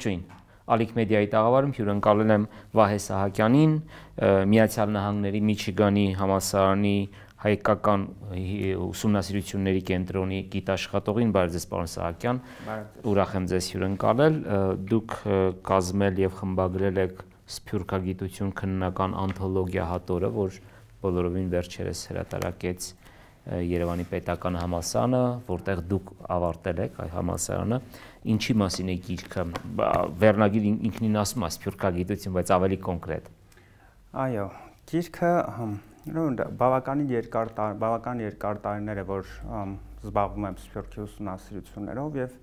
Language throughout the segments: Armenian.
Ողջույն, Ալիք մեդիայի տաղավարում հյուրընկալել եմ Վահե Սահակյանին, Միացյալ Նահանգների Միչիգանի համալսարանի հայկական ուսումնասիրությունների կենտրոնի գիտաշխատողին, բարև ձեզ պարոն Սահակյան, ուրախ եմ ձեզ հյուրընկալել, դուք կազմել եւ խմբագրել եք Սփյուռքագիտություն քննական անթոլոգիա հատորը, որ բոլորովին վերջերս հրատարակեց Երևանի պետական համալսարանը, որտեղ դուք ավարտել եք այ համալսարանը, ինչի մասին է գիրքը, վերնագիր ինքնին ասում է Սփյուռքագիտություն, բայց ավելի կոնկրետ։ Այո, գիրքը բավական երկար տարիներ է, որ զբաղվում եմ Սփյուռքի ուսումնասիրություններով եւ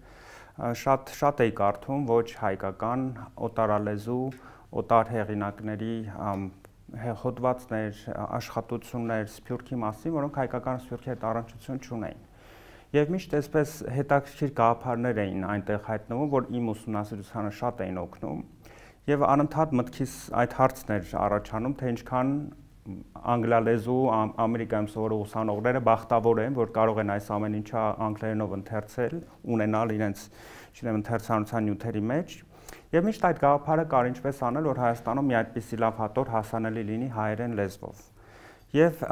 շատ էի կարդում ոչ հայկական, օտարալեզու, օտար հեղինակների հոդվածներ, աշխատություններ Սփյուռքի մասին, որոնք հայկական Սփյուռքի հետ առնչություն չունեին։ Եվ միշտ այսպես հետաքրքիր գաղափարներ էին այնտեղ հայտնվում, որ իմ ուսումնասիրությանը շատ էին օգնում։ Եվ անընդհատ մտքիս այդ հարցն էր առաջանում, թե ինչքան անգլալեզու Ամերիկայում սովորող ուսանողները բախտավոր են, որ կարող են այս ամեն ինչը անգլերենով ընթերցել, ունենալ իրենց, չգիտեմ, ընթերցանության նյութերի մեջ։ Եվ միշտ այդ գաղափարը կար ինչպես անել, որ Հայաստանում մի այդպիսի լավ հատոր հասանելի լինի հայերեն լեզվով։ Եվ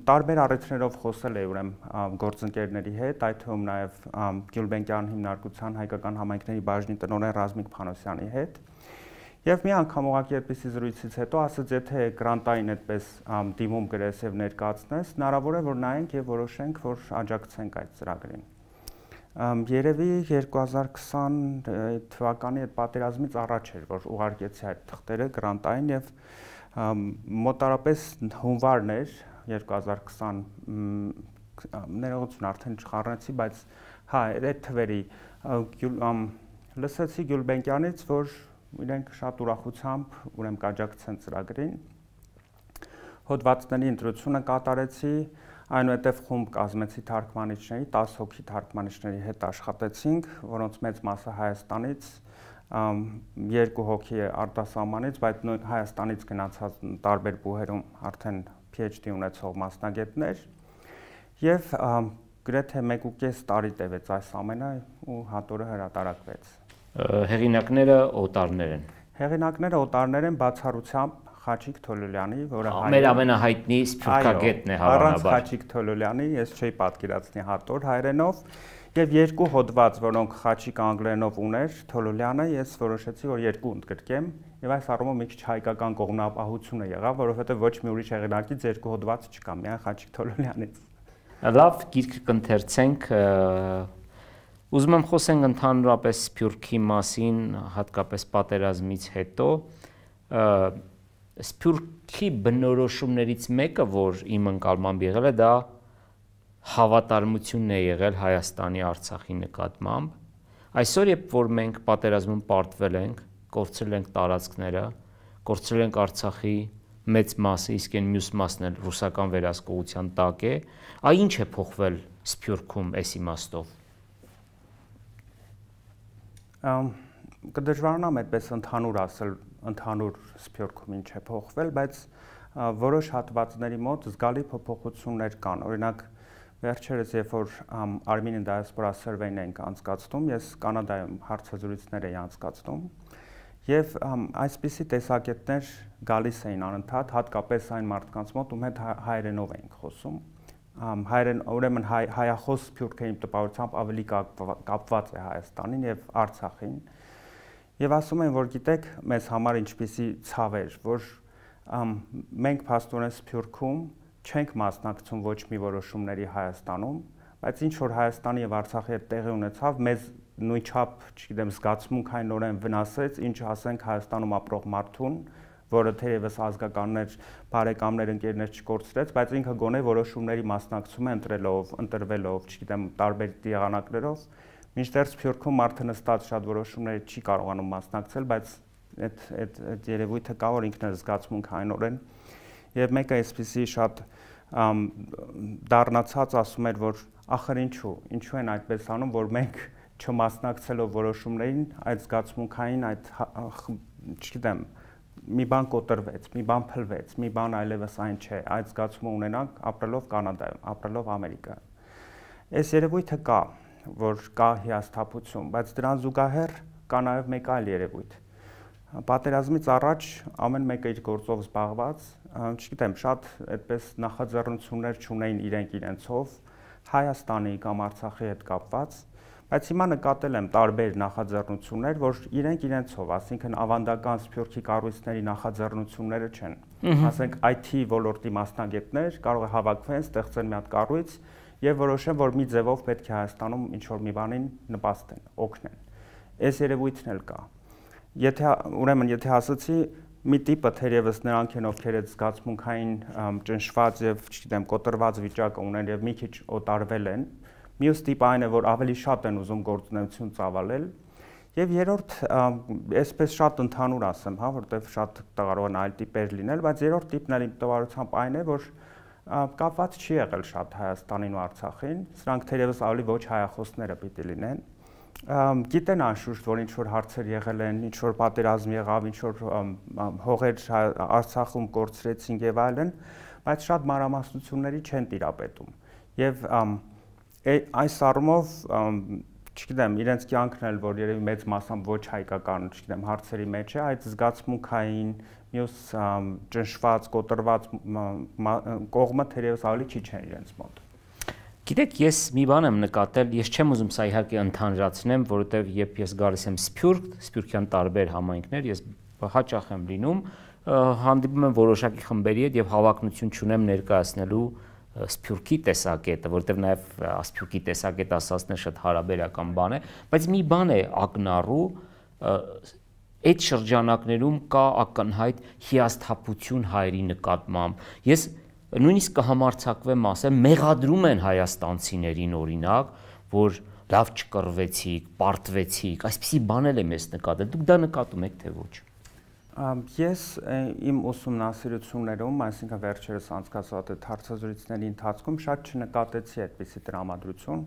տարբեր առիթներով խոսել էի ուրեմն գործընկերների հետ, այդ թվում նաև Գյուլբենկյան հիմնարկության հայկական համայնքների բաժնի տնօրեն Ռազմիկ Փանոսյանի հետ։ Եվ մի անգամ ուղղակի այդպիսի զրույցից հետո ասաց, եթե գրանտային այդպես դիմում գրես եւ ներկայացնես, հնարավոր է որ նայենք եւ որոշենք, որ աջակցենք այդ ծրագրին։ Երևի 2020 թվականի այդ պատերազմից առաջ էր, որ ուղարկեցի այդ թղթերը գրանտային եւ մոտարապես հունվարն էր 2020 ներողություն արդեն չխառնեցի, բայց հա այդ թվերի լսեցի Գյուլբենկյանից, որ իրենք շատ ուրախությամբ ուրեմն կաջակցեն ծրագրին։ Հոդվածների ընտրությունը կատարեցի, այնուհետև խումբ կազմեցի թարգմանիչների, 10 հոգի թարգմանիչների հետ աշխատեցինք, որոնց մեծ մասը Հայաստանից, 2 հոգի արտասահմանից, բայց Հայաստանից գնացած տարբեր բուհերում արդեն PhD ունեցող մասնագետներ, եւ գրեթե 1.5 տարի տևեց այս ամենը ու հատորը հրատարակվեց։ Հեղինակները օտարներ են։ Հեղինակները օտարներ են բացառությամբ Խաչիկ Թոլոլյանի, որը մեր ամենահայտնի սփյուռքագետն է հավանաբար։ Առանց Խաչիկ Թոլոլյանի ես չէի պատկերացնի հատոր հայերենով, եւ 2 հոդված, որոնք Խաչիկ անգլերենով ուներ, Թոլոլյանը ես որոշեցի, որ 2 ընդգրկեմ, եւ այս առումով մի քիչ հայկական կողմնապահությունը եղավ, որովհետեւ ոչ մի ուրիշ հեղինակից 2 հոդված չկա, միայն Խաչիկ Թոլոլյանից։ Լավ, գիրքը կընթերցենք։ Ուզում եմ խոսենք ընդհանրապես Սփյուռքի մասին, հատկապես պատերազմից հետո։ Սփյուռքի բնորոշումներից մեկը, որ իմ ընկալմամբ եղել է, դա հավատարմությունն է եղել Հայաստանի Արցախի նկատմամբ։ Այսօր, երբ որ մենք պատերազմում պարտվել ենք, կորցրել ենք տարածքները, կորցրել ենք Արցախի մեծ մասը, իսկ այն մյուս մասն էլ ռուսական վերահսկողության տակ է, այ ինչ է փոխվել Սփյուռքում այս իմաստով։ Կդժվարանամ այդպես ընդհանուր ասել, ընդհանուր Սփյուռքում ինչ է փոխվել, բայց որոշ հատվածների մոտ զգալի փոփոխություններ կան։ Օրինակ, վերջերս երբ որ Armenian Diaspora Survey-ն ենք անցկացնում, ես Կանադայում հարցազրույցներ էի անցկացնում, եւ այսպիսի տեսակետներ գալիս էին անընդհատ, հատկապես այն մարդկանց մոտ, ում հետ հայերենով էինք խոսում։ Ուրեմն հայախոս Սփյուռքերի տպավորությամբ ավելի կապված է Հայաստանին եւ Արցախին։ Եվ ասում են, որ գիտեք, մեզ համար ինչպիսի ցավ էր, որ մենք փաստորեն Սփյուռքում չենք մասնակցում ոչ մի որոշումների Հայաստանում, բայց ինչ որ Հայաստանի եւ Արցախի հետ տեղի ունեցավ, մեզ նույնչափ, չգիտեմ, զգացմունքայինորեն վնասեց, ինչ ասենք Հայաստանում ապրող մարդուն, որը թերևս ազգականներ, բարեկամներ, ընկերներ չկորցրեց, բայց ինքը գոնե որոշումների մասնակցում է ընտրվելով, չգիտեմ, տարբեր եղանակներով, մինչդեռ Սփյուռքում մարդը նստած շատ որոշումների չի կարողանում մասնակցել, բայց այդ երևույթը կա, որ ինքն է զգացմունքայինորեն, եւ մեկը այսպեսի շատ դառնացած ասում էր, որ ախր ինչու են այդպես անում, որ մենք չմասնակցելով որոշումներին, այդ զգացմունքային, այդ չգիտեմ, մի բան կոտրվեց, մի բան փլվեց, մի բան այլևս այն չէ, այդ զգացումը ունենանք ապրելով Կանադայում, ապրելով Ամերիկայում։ Այս երևույթը կա, որ կա հիասթափություն, բայց դրան զուգահեռ կա նաև մեկ այլ երևույթ։ Պատերազմից առաջ ամեն մեկը իր գործով զբաղված, չգիտեմ, շատ այդպես նախաձեռնություններ չունեին իրենցով Հայաստանի կամ Արցախի հետ կապված, բայց հիմա նկատել եմ տարբեր նախաձեռնություններ, որ իրենցով, ասինքն ավանդական սփյուռքի կառույցների նախաձեռնությունները չեն։ Ասենք IT ոլորտի մասնագետներ կարող է հավաքվեն, ստեղծեն մի հատ կառույց եւ որոշեն, որ մի ձևով պետք է Հայաստանում ինչ-որ մի բանին նպաստեն, օգնեն։ Այս երևույթն էլ կա։ Եթե ասացի մի տիպը թերևս նրանք են, ովքեր այդ զգացմունքային ճնշված եւ, չգիտեմ, կոտրված վիճակը ունեն եւ մի քիչ օտարվել են, մյուս տիպը այն է, որ ավելի շատ են ուզում գործունեություն ծավալել, եւ երրորդ, այսպես շատ ընդհանուր ասեմ, հա, որտեվ շատ կարող են այլ տիպեր լինել, բայց երրորդ տիպն էլ իմ տվարությամբ այն է, որ կապված չի եղել շատ Հայաստանին ու Արցախին, սրանք թերևս ավելի ոչ հայախոսները պիտի լինեն։ Գիտեն անշուշտ, որ ինչ-որ հարցեր եղել են, ինչ-որ պատերազմ եղավ, ինչ-որ հողեր Արցախում կորցրեցին եւ այլն, բայց շատ մանրամասնությունների չեն տիրապետում։ Եվ այս առումով, չգիտեմ, իրենց կյանքն էլ, որ երևի մեծ մասամբ ոչ հայկական, չգիտեմ, հարցերի մեջ է, այդ զգացմունքային, մյուս ճնշված, կոտրված կողմը թերևս ավելի քիչ են իրենց մոտ։ Գիտեք, ես մի բան եմ նկատել, ես չեմ ուզում սա իհարկե ընդհանրացնեմ, որովհետև երբ ես գալիս եմ Սփյուռքյան տարբեր համայնքներ, ես հաճախ եմ լինում, հանդիպում եմ որոշակի խմբերի հետ եւ հավակնություն չունեմ ներկայացնելու Սփյուռքի տեսակետը, որովհետև նաեւ Սփյուռքի տեսակետ ասածն շատ հարաբերական բան է, բայց մի բան է ակնառու, այդ շրջանակներում կա ակնհայտ հիասթափություն հայերի նկատմամբ։ Ես նույնիսկ կհամարձակվեմ ասեմ, մեղադրում են հայաստանցիներին օրինակ, որ լավ չկռվեցիք, պարտվեցիք, այսպիսի բաներ եմ ես նկատել։ Դուք դա նկատում եք թե ոչ։ Ես իմ ուսումնասիրություններում, այսինքն վերջերս անցկացված այդ հարցազրույցների ընթացքում շատ չնկատեցի այդպիսի տրամադրություն,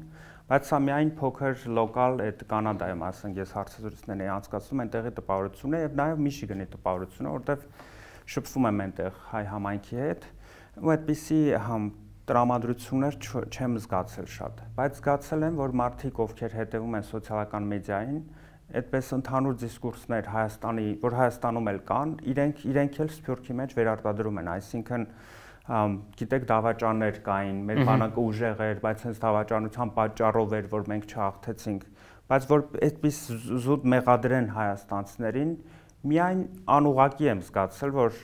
բայց սա միայն փոքր լոկալ այդ Կանադայում, ասենք ես հարցազրույցներ էի անցկացնում, այնտեղի տպավորությունը եւ նաեւ Միշիգանի տպավորությունը, որտեղ շփվում եմ այնտեղ հայ համայնքի հետ, ու այդպիսի տրամադրություններ չեմ զգացել շատ, բայց զգացել եմ, որ մարդիկ, ովքեր հետևում են սոցիալական մեդիային, այդպես ընդհանուր դիսկուրսներ Հայաստանի, որ Հայաստանում էլ կան, իրենք էլ Սփյուռքի մեջ վերարտադրում են, այսինքն գիտեք դավաճաններ կային, մեր բանակը ուժեղ էր, բայց հենց դավաճանության պատճառով էր, որ մենք չհաղթեցինք, բայց որ այդպես զուտ մեղադրեն հայաստանցիներին, միայն անուղղակի եմ զգացել, որ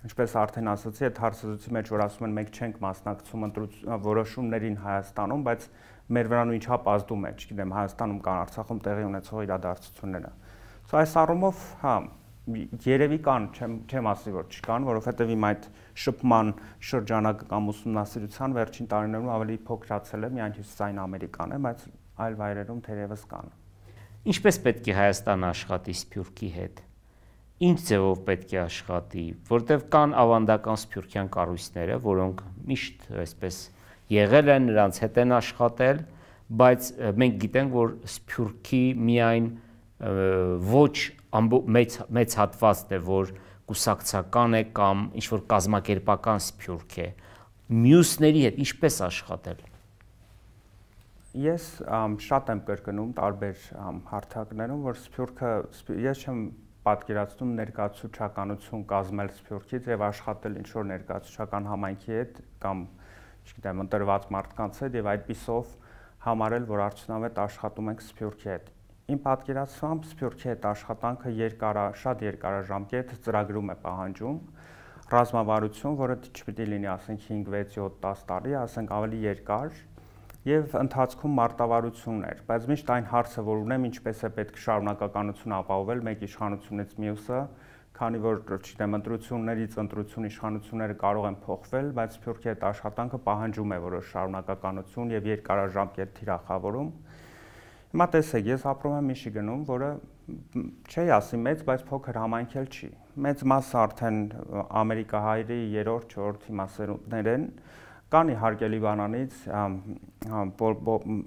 ինչպես արդեն ասացի, այդ հարցազրույցի մեջ որ ասում են մենք չենք մասնակցում որոշումներին Հայաստանում, բայց մեր վրա նույնչափ ազդում է, չգիտեմ, Հայաստանում կան, Արցախում տեղի ունեցող իրադարձությունները։ Սա այս առումով, հա, երևի կան, չեմ ասի, որ չկան, որովհետև իմ այդ շփման շրջանակը կամ ուսումնասիրության վերջին տարիներում ավելի փոքրացել է, միայն Հյուսիսային Ամերիկան է, բայց այլ վայրերում թերևս կան։ Ինչպես պետք է Հայաստանը աշխատի Սփյուռքի հետ։ Ինչ ձևով պետք է աշխատի, որտեղ կան ավանդական սփյուռքյան կառույցները, որոնք միշտ այսպես եղել են, նրանց հետ են աշխատել, բայց մենք գիտենք, որ Սփյուռքի միայն ոչ մեծ հատվածն է, որ կուսակցական է կամ ինչ-որ կազմակերպական Սփյուռք է, մյուսների հետ ինչպես աշխատել։ Ես շատ եմ կրկնում տարբեր հարթակներում, որ Սփյուռքը, ես չեմ պատկերացնում ներկայացուցչականություն կազմել Սփյուռքից եւ աշխատել ինչ-որ ներկայացուցչական համայնքի հետ կամ, չգիտեմ, ընտրված մարդկանց հետ եւ այդպիսով համարել, որ արդյունավետ աշխատում ենք Սփյուռքի հետ։ Իմ պատկերացմամբ Սփյուռքի հետ աշխատանքը շատ երկարաժամկետ ծրագրում է պահանջում, ռազմավարություն, որը չպիտի լինի, ասենք 5, 6, 7, 10 տարի, ասենք ավելի երկար եւ ընթացքում մարտավարություններ, բայց միշտ այն հարցը, որ ունեմ, ինչպես է պետք շարունակականություն ապահովել մեկ իշխանությունից մյուսը, քանի որ, չգիտեմ, ընտրություններից ընտրություն իշխանությունները կարող են փոխվել, բայց Սփյուռքի հետ աշխատանքը պահանջում է որոշ շարունակականություն եւ երկարաժամկետ թիրախավորում։ Հիմա տեսեք, ես ապրում եմ Միշիգանում, որը չի ասի մեծ, բայց փոքր համայնք էլ չի։ Մեծ մասը արդեն ամերիկահայերի 3-րդ, 4-րդ իմասերունդներ են, կան իհարկե Լիբանանից,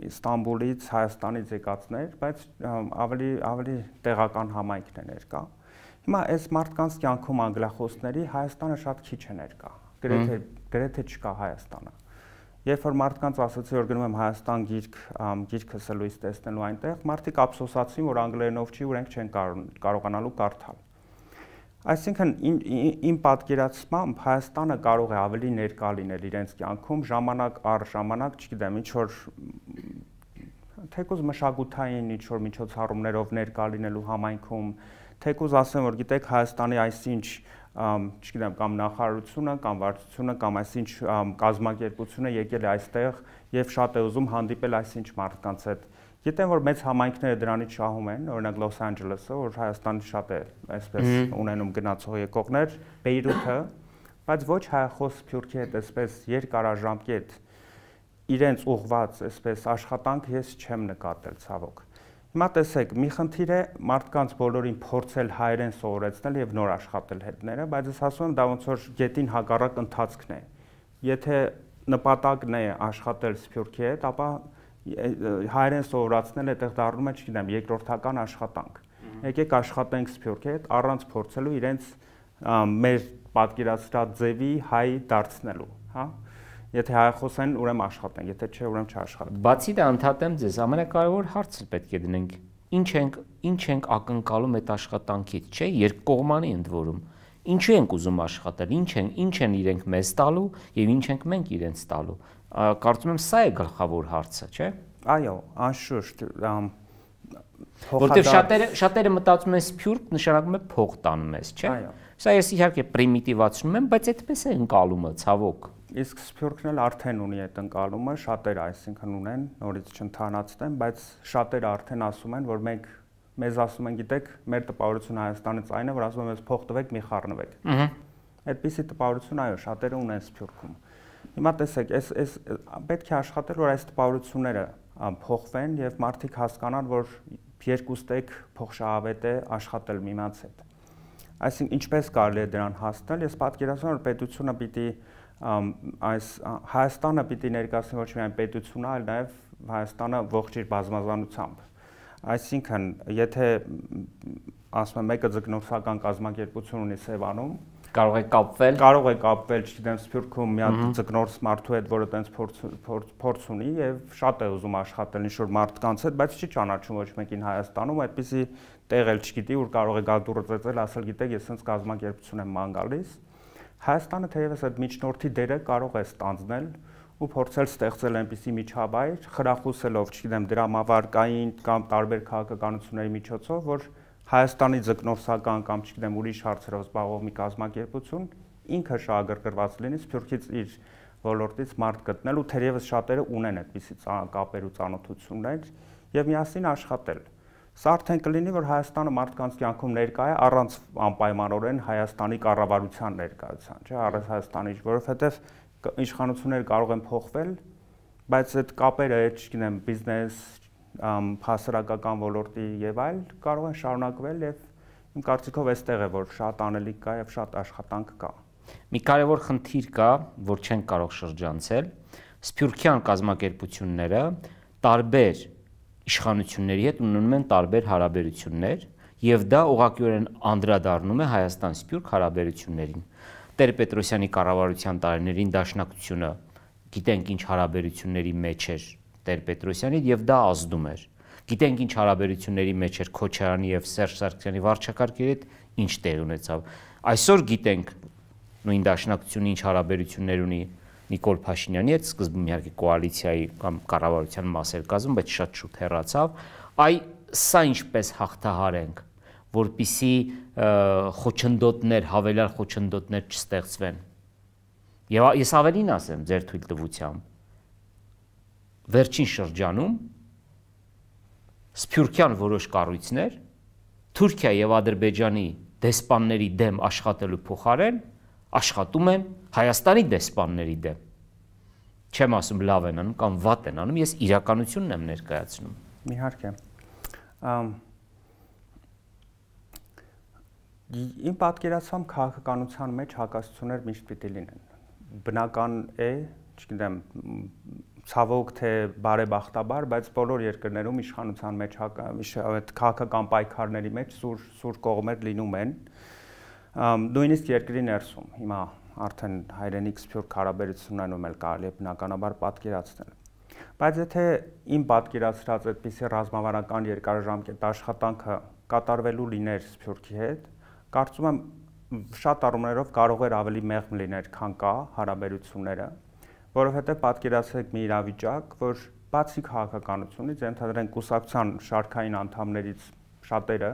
Ստամբուլից, Հայաստանից եկածներ, բայց ավելի տեղական համայնքն է ներկա։ Հիմա այս մարդկանց կյանքում անգլախոսների Հայաստանը շատ քիչ է ներկա, գրեթե չկա Հայաստանը։ երբ որ մարդկանց ասացի, որ գնում եմ Հայաստան գիրքս լույս տեսնելու այնտեղ, մարդիկ ափսոսացին, որ անգլերենով չի, որ ենք չեն կարողանալու կարդալ։ Այսինքն իմ պատկերացմամբ Հայաստանը կարող է ավելի ներկա լինել իրենց կյանքում ժամանակ առ ժամանակ, չգիտեմ, ինչ որ թեկուզ մշակութային ինչ որ միջոցառումներով ներկա լինելու համայնքում, թեկուզ ասեմ, որ գիտեք Հայաստանի այսինչ չգիտեմ, կամ նախարարությունը, կամ վարչությունը, կամ այսինչ կազմակերպությունը եկել է այստեղ եւ շատ է ուզում հանդիպել այսինչ մարդկանց հետ։ Գիտեմ, որ մեծ համայնքները դրանից շահում են, օրինակ Լոս Անջելեսը, որ Հայաստանի շատ է այսպես ունենում գնացող եկողներ, Բեյրութը, բայց ոչ հայախոս Սփյուռքի հետ այսպես երկարաժամկետ իրենց ուղված այսպես աշխատանք ես չեմ նկատել ցավոք։ Հիմա տեսեք, մի խնդիր է մարդկանց բոլորին փորձել հայերեն սովորեցնել եւ նոր աշխատել հետները, բայց ես ասում եմ դա ոնց որ գետին հակառակ ընթացքն է։ Եթե նպատակն է աշխատել Սփյուռքի հետ, ապա հայերեն սովորացնել այդտեղ դառնում է, չգիտեմ, երկրորդական աշխատանք։ Եկեք աշխատենք Սփյուռքի հետ առանց փորձելու իրենց մեր պատկերացրած ձևի հայ դարձնելու, հա։ Եթե հայախոս են, ուրեմն աշխատենք, եթե չէ, ուրեմն չաշխատենք։ Բացի դա ընդհատեմ ձեզ, ամենակարևոր հարցը պետք է դնենք, ինչ ենք ակնկալում այդ աշխատանքից, չէ՞, երկկողմանի ընդ որում։ Ինչու ենք ուզում աշխատել, ինչ են իրենք մեզ տալու եւ ինչ ենք մենք իրենց տալու։ Կարծում եմ սա է գլխավոր հարցը, չէ՞։ Այո, անշուշտ, որտեղ շատերը մտածում են Սփյուռք նշանակում է փող տան մեզ, չէ՞։ Այո։ Սա ես իհարկե պրիմիտիվացնում եմ, բայց այդպես է ընկալումը, ցավոք։ Իսկ Սփյուռքն էլ արդեն ունի այդ ընկալումը, շատերը այսինքն ունեն, նորից չընթանացնեմ, բայց շատերը արդեն ասում են, որ մենք մեզ ասում են, գիտեք, մեր տպավորությունը Հայաստանից այն է, որ ասում են մեզ փող տվեք, մի խառնվեք։ Այդպիսի տպավորություն, այո, շատերը ունեն Սփյուռքում։ Հիմա տեսեք, այս պետք է աշխատել, որ այս տպավորությունները փոխվեն եւ մարդիկ հասկանան, որ երկուստեք փոխշահավետ է աշխատել միմյանց հետ։ Այսինքն ինչպես կարելի է դրան հասնել, ես պատկերացնում եմ, որ պետությունը պիտի այս Հայաստանը պիտի ներկայացնի ոչ միայն պետությունը, այլ նաև Հայաստանը ողջ իր բազմազանությամբ։ Այսինքն, եթե ասում եմ մեկը ձկնորսական կազմակերպություն ունի Սևանում, կարող է կապվել, չգիտեմ, Սփյուռքում մի հատ ձկնորս մարդու հետ, որը տենց փորձ ունի եւ շատ է ուզում աշխատել ինչ-որ մարդկանց հետ, բայց չի ճանաչում ոչ մեկին Հայաստանում, այդպիսի տեղ էլ չգիտի, որ կարող է գալ դուրը ծեծել, ասել, գիտեք, ես sense կազմակերպություն եմ ման գալիս։ Հայաստանը թերևս այդ միջնորդի դերը կարող է ստանձնել ու փորձել ստեղծել այնպիսի միջավայր, խրախուսելով, չգիտեմ, դրամավարկային կամ տարբեր քաղաքականությունների միջոցով, որ Հայաստանի ձկնորսական կամ չգիտեմ ուրիշ հարցերով զբաղվող մի կազմակերպություն ինքը շահագրգռված լինի Սփյուռքից իր ոլորտից մարդ գտնել ու թերևս շատերը ունեն այդպիսի կապեր ու ծանոթություններ եւ միասին աշխատել։ Սա արդեն կլինի, որ Հայաստանը մարդկանց կյանքում ներկա է առանց անպայմանորեն Հայաստանի կառավարության ներկայության, չէ՞, առանց Հայաստանի, որովհետեւ իշխանությունները կարող են փոխվել, բայց այդ կապերը, չգիտեմ, բիզնես, հասարակական ոլորտի եւ այլ կարող են շարունակվել եւ իմ կարծիքով այստեղ է, որ շատ անելիք կա եւ շատ աշխատանք կա։ Մի կարևոր խնդիր կա, որ չեն կարող շրջանցել, Սփյուռքյան կազմակերպությունները տարբեր իշխանությունների հետ ունենում են տարբեր հարաբերություններ եւ դա ուղղակիորեն անդրադառնում է Հայաստան-Սփյուռք հարաբերություններին։ Տեր-Պետրոսյանի կառավարության տարիներին Դաշնակցությունը գիտենք ինչ հարաբերությունների մեջ էր Տեր-Պետրոսյանի եւ դա ազդում էր։ Գիտենք ինչ հարաբերությունների մեջ էր Քոչարյանի եւ Սերժ Սարգսյանի վարչակարգերի հետ ինչ տեղ ունեցավ։ Այսօր գիտենք նույն Դաշնակցությունը ինչ հարաբերություններ ունի Նիկոլ Փաշինյանի հետ, սկզբում իհարկե կոալիցիայի կամ կառավարության մաս էր կազմում, բայց շատ շուտ հեռացավ։ Սա ինչպես հաղթահարենք, որպիսի խոչընդոտներ, հավելյալ խոչընդոտներ չստեղծվեն։ Եվ ես ավելին ասեմ ձեր թույլտվությամբ, վերջին շրջանում Սփյուռքյան որոշ կառույցներ Թուրքիա եւ Ադրբեջանի դեսպանների դեմ աշխատելու փոխարեն աշխատում են Հայաստանի դեսպանների դեմ։ Չեմ ասում լավ են անում կամ վատ են անում, ես իրականությունն եմ ներկայացնում։ Իհարկե։ Իմ պատկերացմամբ քաղաքականության մեջ հակասություններ միշտ պիտի լինեն։ Բնական է, չգիտեմ, ցավոք թե բարեբախտաբար, բայց բոլոր երկրներում իշխանության մեջ այդ քաղաքական պայքարների մեջ սուր կողմեր լինում են։ Նույնիսկ երկրի ներսում։ Հիմա արդեն հայրենիք սփյուռք հարաբերություններում էլ կարելի է բնականաբար պատկերացնել։ Բայց եթե իմ պատկերացրած այդպիսի ռազմավարական երկարաժամկետ աշխատանքը կատարվելու լիներ սփյուռքի հետ, կարծում եմ շատ առումներով կարող էր ավելի մեղմ լիներ, քան կա հարաբերությունները, որովհետև պատկերացրեք մի իրավիճակ, որ բացի քաղաքականությունից, ենթադրենք կուսակցության շարքային անդամներից շատերը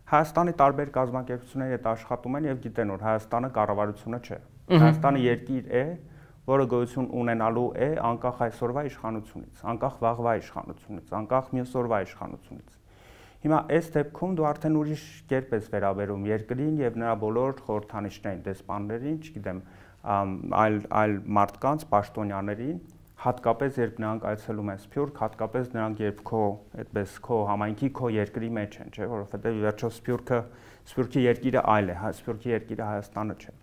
Հայաստանի տարբեր կազմակերպությունների հետ աշխատում են եւ գիտեն, որ Հայաստանը կառավարությունը չէ։ Հայաստանը երկիր է, որը գոյություն ունենալու է անկախ այսօրվա իշխանությունից, անկախ վաղվա իշխանությունից, անկախ մյուս օրվա իշխանությունից։ Հիմա այս դեպքում դու արդեն ուրիշ կերպ ես վերաբերում երկրին եւ նրա բոլոր խորհրդանիշներին, դեսպաններին, չգիտեմ, այլ մարդկանց, պաշտոնյաներին, հատկապես երբ նրանք այցելում են Սփյուռք, հատկապես նրանք երբ քո համայնքի, քո երկրի մեջ են, չէ, որովհետեւ ի վերջո Սփյուռքի երկիրը այլ է, Սփյուռքի երկիրը Հայաստանը չէ։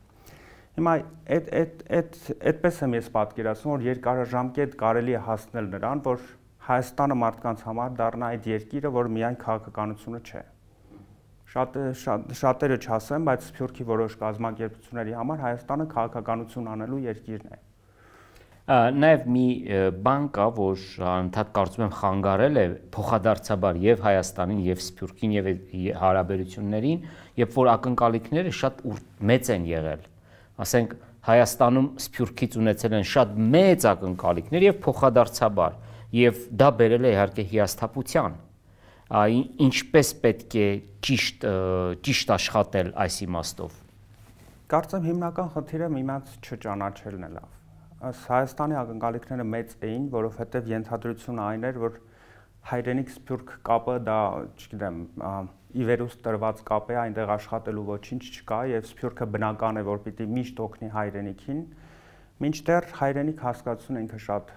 Հիմա այդպես եմ ես պատկերացնում, որ երկարաժամկետ կարելի է հասնել նրան, որ Հայաստանը մարդկանց համար դառնա այդ երկիրը, որ միայն քաղաքականությունը չէ։ Շատերը չասեն, բայց Սփյուռքի որոշ կազմակերպությունների համար Հայաստանը քաղաքականություն անելու երկիրն է։ Նաև մի բան կա, որ անընդհատ կարծում եմ խանգարել է փոխադարձաբար եւ Հայաստանին եւ Սփյուռքին եւ հարաբերություններին, երբ որ ակնկալիքները շատ մեծ են եղել։ Ասենք Հայաստանում Սփյուռքից ունեցել են շատ մեծ ակնկալիքներ եւ փոխադարձաբար, եւ դա բերել է իհարկե հիասթափության։ Ինչպես պետք է ճիշտ աշխատել այս իմաստով։ Կարծեմ հիմնական խնդիրը միմյանց չճանաչելն է լավ։ Հայաստանի ակնկալիքները մեծ էին, որովհետև ենթադրությունը այն էր, որ հայրենիք Սփյուռք կապը դա, չգիտեմ, ի վերուստ տրված կապ է, այնտեղ աշխատելու ոչինչ չկա եւ Սփյուռքը բնական է, որ պիտի միշտ օգնի հայրենիքին, մինչդեռ հայրենիք հասկացությունը ինքը շատ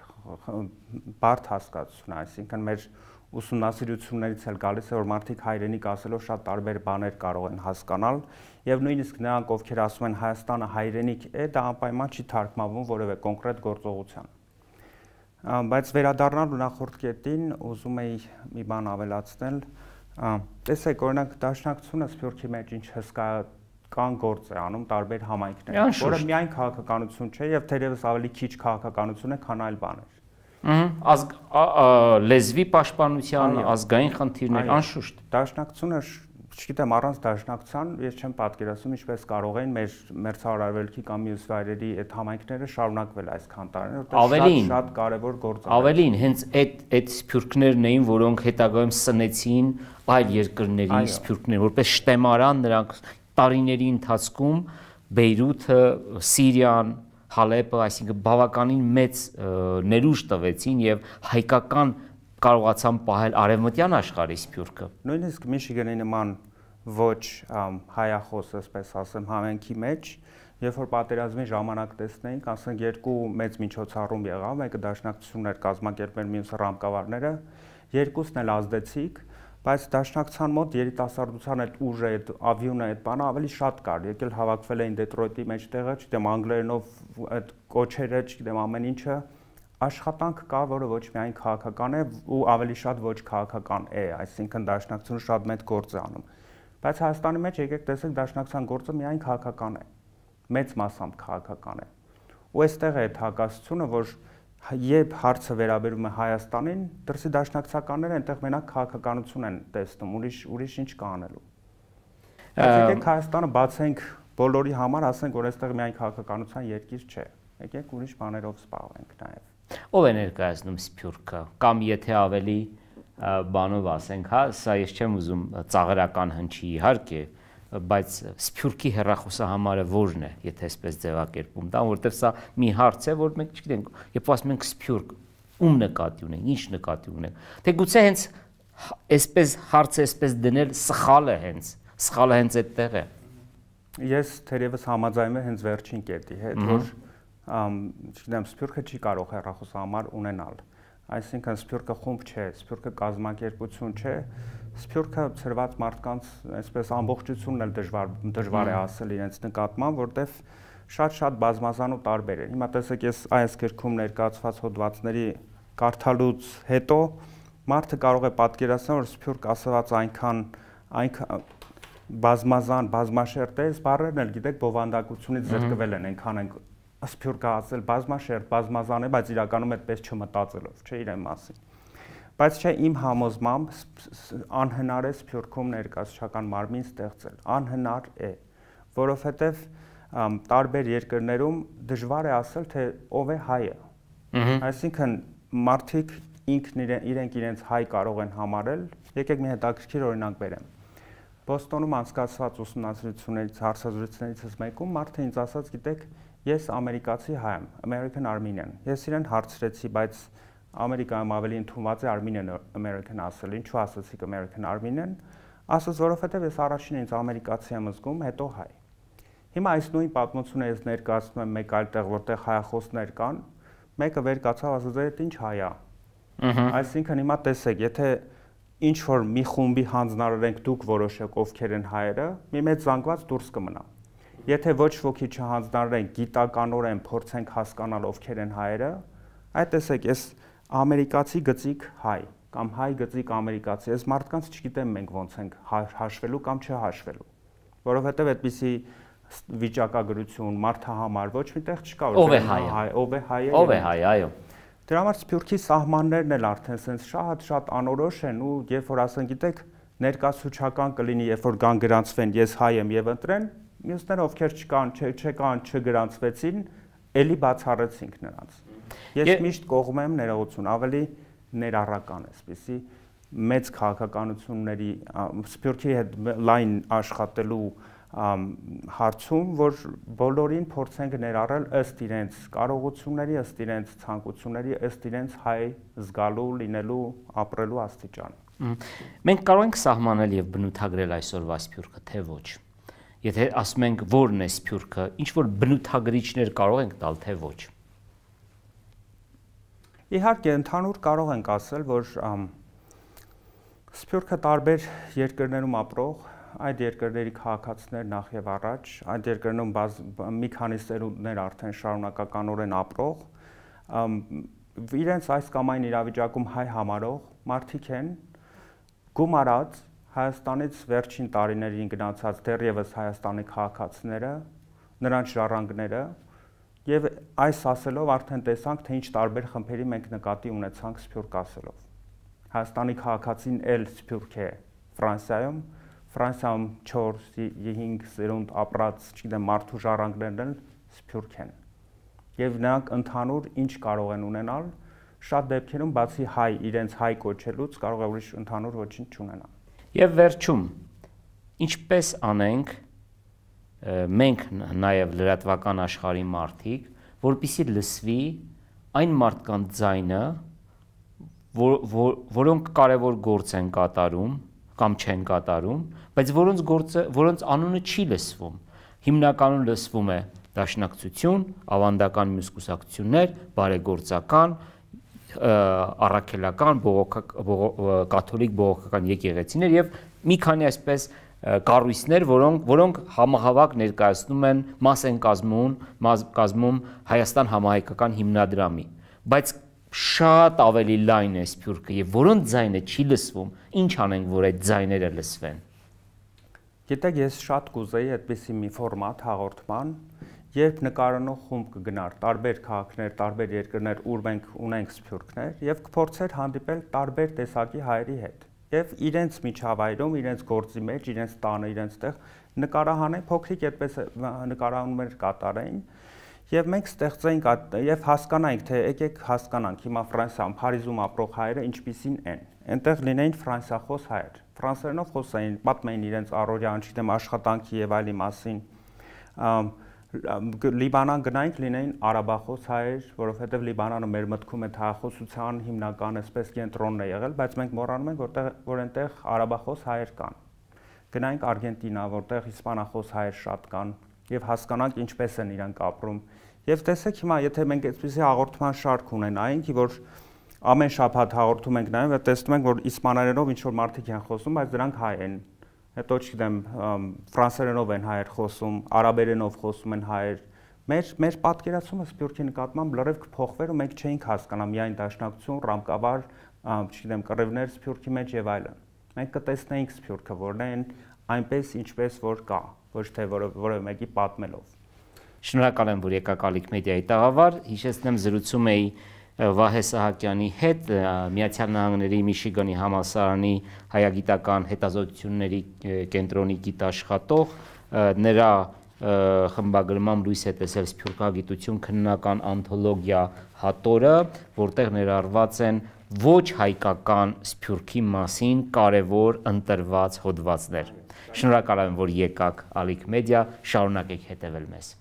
բարդ հասկացություն է, այսինքն մեր ուսումնասիրություններից էլ գալիս է, որ մարդիկ հայրենիք ասելով շատ տարբեր բաներ կարող են հասկանալ եւ նույնիսկ նրանք, ովքեր ասում են Հայաստանը հայրենիք է, դա անպայման չի թարգմանվում որևէ կոնկրետ գործողության։ Բայց վերադառնալու նախորդ կետին ուզում էի մի բան ավելացնել, տեսեք, օրինակ Դաշնակցությունը Սփյուռքի մեջ ինչ հսկայական գործ է անում տարբեր համայնքներում, որը միայն քաղաքականություն չէ եւ թերևս ավելի քիչ քաղաքականություն է, քան այլ բաներ։ Լեզվի պաշտպանության, ազգային խնդիրներ, անշուշտ։ Դաշնակցությունը, չգիտեմ, առանց դաշնակցության ես չեմ պատկերացնում ինչպես կարող են մեր մերձարարվելքի կամ մյուս վայրերի այդ համայնքները շարունակվել այսքան տարիներ, որտեղ շատ կարևոր գործ է։ Ավելին, հենց այդ սփյուռքներն էին, որոնք հետագայում սնեցին այլ երկրների սփյուռքներ, որպես շտեմարան նրանք տարիների ընթացքում Բեյրութը, Սիրիան, Հալեպը, այսինքն բավականին մեծ ներուժ տվեցին եւ հայկական կարողացան պահել արևմտյան աշխարհի Սփյուռքը։ Նույնիսկ Միշիգանի նման ոչ հայախոս, ասպես ասեմ, համայնքի մեջ, երբ որ պատերազմի ժամանակ տեսնեինք, ասենք երկու մեծ միջոցառում եղավ, մեկը Դաշնակցությունն էր կազմակերպել, մյուսը ռամկավարները, երկուսն էլ ազդեցիկ, բայց Դաշնակցության մոտ երիտասարդության այդ ուժը, այդ ավյունը, այդ բանը ավելի շատ կար, եկել հավաքվել էին Դետրոյթի մեջտեղը, չգիտեմ, անգլերենով այդ կոչերը, չգիտեմ, ամեն ինչը, աշխատանք կա, որը ոչ միայն քաղաքական է ու ավելի շատ ոչ քաղաքական է, այսինքն Դաշնակցությունը շատ մեծ գործ է անում։ Բայց Հայաստանի մեջ եկեք տեսեք Դաշնակցության գործը միայն քաղաքական է, մեծ մասամբ քաղաքական է։ Ու այստեղ է այդ հակասությունը, որ երբ հարցը վերաբերում է Հայաստանին, դրսի դաշնակցականները այնտեղ մենակ քաղաքականություն են տեսնում, ուրիշ ինչ կա անելու։ Եկեք Հայաստանը բացենք բոլորի համար, ասենք, որ այստեղ միայն քաղաքականության երկիր չէ։ Եկեք ուրիշ բաներով զբաղվենք նաև։ Ով է ներկայացնում Սփյուռքը, կամ եթե ավելի բանով ասենք, հա, սա ես չեմ ուզում ծաղրական հնչի իհարկե, բայց Սփյուռքի հեռախոսահամարը որն է, եթե այսպես ձևակերպում տամ, որովհետև սա մի հարց է, որ մենք չգիտենք, երբ ասում ենք Սփյուռք, ում նկատի ունենք, ինչ նկատի ունենք, թե գուցե հենց այսպես հարցը այսպես դնել սխալը հենց այդտեղ է։ Ես թերևս համաձայնում եմ հենց վերջին կետի հետ, որ չգիտեմ, Սփյուռքը չի կարող հեռախոսահամար ունենալ։ Այսինքն Սփյուռքը խումբ չէ, Սփյուռքը կազմակերպություն չէ, Սփյուռքը ծրված մարդկանց այսպես ամբողջությունն էլ դժվար է ասել իրենց նկատմամբ, որտեվ շատ բազմազան ու տարբեր է։ Հիմա տեսեք, ես այս գրքում ներկայացված հոդվածների կարդալուց հետո մարդը կարող է պատկերացնել, որ Սփյուռք ասված այնքան բազմազան, բազմաշերտ բառերն էլ գիտեք բովանդակությունից զրկվել են, այնքան են սփյուռքը ասել բազմաշերտ, բազմազան է, բայց իրականում այդպես չմտածելով, չէ իրեն մասին։ Բայց չէ իմ համոզմամբ անհնար է Սփյուռքում ներկայացուցչական մարմին ստեղծել, անհնար է, որովհետև տարբեր երկրներում դժվար է ասել, թե ով է հայը։ Այսինքն մարդիկ իրենք իրենց հայ կարող են համարել, եկեք մի հետաքրքիր օրինակ բերեմ։ Բոստոնում անցկացված ուսումնասիրություններից, հարցազրույցներից մեկում մարդը ինձ ասաց, գիտեք, ես ամերիկացի հայ եմ, American Armenian։ Ես իրեն հարցրեցի, բայց Ամերիկայում ավելի ընդունված է Armenian American ասել, ինչու ասացիք American Armenian, ասաց, որովհետև ես առաջինը ինձ ամերիկացի եմ զգում, հետո հայ։ Հիմա այս նույն պատմությունը ես ներկայացնում եմ մեկ այլ տեղ, որտեղ հայախոսներ կան, մեկը վեր կացավ, ասաց, այդ ինչ հայ է։ Այսինքն հիմա տեսեք, եթե ինչ որ մի խումբի հանձնարարենք դուք որոշեք ովքեր են հայերը, մի մեծ զանգված դուրս կմնա։ Եթե ոչ ոքի չհանձնարարենք, գիտականորեն փորձենք հասկանալ ովքեր են հայերը, այդ տեսեք, ես ամերիկացի գծիկ հայ կամ հայ գծիկ ամերիկացի, այս մարդկանց չգիտեմ մենք ոնց ենք հաշվելու կամ չհաշվելու, որովհետև այդպիսի վիճակագրություն մարդահամար ոչ միտեղ չկա, ով է հայը, ով է հայը, այո։ Դրա համար Սփյուռքի սահմաններն էլ արդեն sense շատ անորոշ են ու երբ որ ասեն, գիտեք, ներկայացուցչական կլինի, երբ որ կան գրանցվեն, ես հայ եմ եւ ընտրեն, մյուսները ովքեր չկան, չգրանցվեցին, էլի բացառեցինք նրանց։ Ես միշտ կողմ եմ ներողություն, ավելի ներառական էսպիսի մեծ քաղաքականությունների Սփյուռքի հետ լայն աշխատելու հարցում, որ բոլորին փորձենք ներառել ըստ իրենց կարողությունների, ըստ իրենց ցանկությունների, ըստ իրենց հայ զգալու, լինելու, ապրելու աստիճան։ Մենք կարող ենք սահմանել եւ բնութագրել այսօրվա Սփյուռքը, թե ոչ։ Եթե ասում ենք որն է Սփյուռքը, ինչ որ բնութագրիչներ կարող ենք տալ, թե ոչ։ Իհարկե, ընդհանուր կարող ենք ասել, որ Սփյուռքը տարբեր երկրներում ապրող այդ երկրների քաղաքացիներ նախ եւ առաջ, այդ երկրներում մի քանի սերունդներ արդեն շարունակականորեն ապրող, իրենց այս կամ այն իրավիճակում հայ համարող մարդիկ են, գումարած Հայաստանից վերջին տարիներին գնացած դեռևս Հայաստանի քաղաքացիները, նրանց ժառանգները, եւ այս ասելով արդեն տեսանք, թե ինչ տարբեր խմբերի մենք նկատի ունեցանք Սփյուռք ասելով։ Հայաստանի քաղաքացին էլ Սփյուռք է Ֆրանսիայում, Ֆրանսիայում 4-5 սերունդ ապրած, չգիտեմ, մարդու ժառանգներն էլ Սփյուռք են։ Եվ նրանք ընդհանուր ինչ կարող են ունենալ, շատ դեպքերում բացի հայ, իրենց հայ կոչելուց կարող է ուրիշ ընդհանուր ոչինչ չունենալ։ Եվ վերջում, ինչպես անենք մենք նաև լրատվական աշխարհի մարդիկ, որպեսզի լսվի այն մարդկանց ձայնը, որոնք կարևոր գործ են կատարում կամ չեն կատարում, բայց որոնց անունը չի լսվում։ Հիմնականում լսվում է դաշնակցություն, ավանդական մյուս կուսակցություններ, բարեգործական, առաքելական, կաթոլիկ բողոքական եկեղեցիներ եւ մի քանի այսպես կառույցներ, որոնք համահավաք ներկայացնում են մաս են կազմում Հայաստան համահայկական հիմնադրամի, բայց շատ ավելի լայն է Սփյուռքը եւ որոնց ձայնը չի լսվում, ինչ անենք, որ այդ ձայները լսվեն։ Գիտեք, ես շատ կուզեի այդպիսի մի ֆորմատ հաղորդման, երբ նկարանող խումբ կգնար տարբեր քաղաքներ, տարբեր երկրներ, ուր մենք ունենք Սփյուռքներ եւ կփորձեր հանդիպել տարբեր տեսակի հայերի հետ եւ իրենց միջավայրում, իրենց գործի մեջ, իրենց տանը, իրենց տեղ նկարահանեն, փոքրիկ այդպես նկարահանումներ կատարեին եւ մենք ստեղծենք եւ հասկանանք, թե եկեք հասկանանք հիմա Ֆրանսիայում, Փարիզում ապրող հայերը ինչպիսին են։ Այնտեղ լինեին ֆրանսիախոս հայեր, ֆրանսերենով խոսային, պատմեին իրենց առօրյա, չգիտեմ, աշխատանքի եւ այլի մասին։ Լիբանան գնայինք, լինեին արաբախոս հայեր, որովհետև Լիբանանը մեր մտքում է հայախոսության հիմնական այսպես կենտրոնն է եղել, բայց մենք մոռանում ենք, որ այնտեղ արաբախոս հայեր կան։ Գնայինք Արգենտինա, որտեղ իսպանախոս հայեր շատ կան, եւ հասկանանք ինչպես են իրանք ապրում։ Եվ տեսեք հիմա, եթե մենք այսպեսի հաղորդման շարք ունենայինք, որ ամեն շաբաթ հաղորդում ենք նայում եւ տեսնում ենք, որ իսպաներենով ինչ որ մարդիկ են խոսում, բայց դրանք հայ են։ Հետո չգիտեմ, ֆրանսերենով են հայեր խոսում, արաբերենով խոսում են հայեր։ Մեր պատկերացումը Սփյուռքի նկատմամբ լրիվ կփոխվեր ու մենք չէինք հասկանա միայն դաշնակցություն, ռամկավար, չգիտեմ, կռիվներ Սփյուռքի մեջ եւ այլն։ Մենք կտեսնեինք Սփյուռքը, որն է այնպես ինչպես որ կա, ոչ թե որևէ մեկի պատմելով։ Շնորհակալ եմ, որ եկաք Ալիք մեդիայի տաղավար, հիշեցնեմ զրուցում էի Վահե Սահակյանի հետ, Միացյալ Նահանգների Միշիգանի համալսարանի հայագիտական հետազոտությունների կենտրոնի գիտաշխատող, նրա խմբագրմամբ լույս է տեսել Սփյուռքագիտություն քննական անթոլոգիա հատորը, որտեղ ներառված են ոչ հայկական Սփյուռքի մասին կարևոր ընտրված հոդվածներ։ Շնորհակալ եմ, որ եկաք Ալիք մեդիա, շարունակեք հետևել մեզ։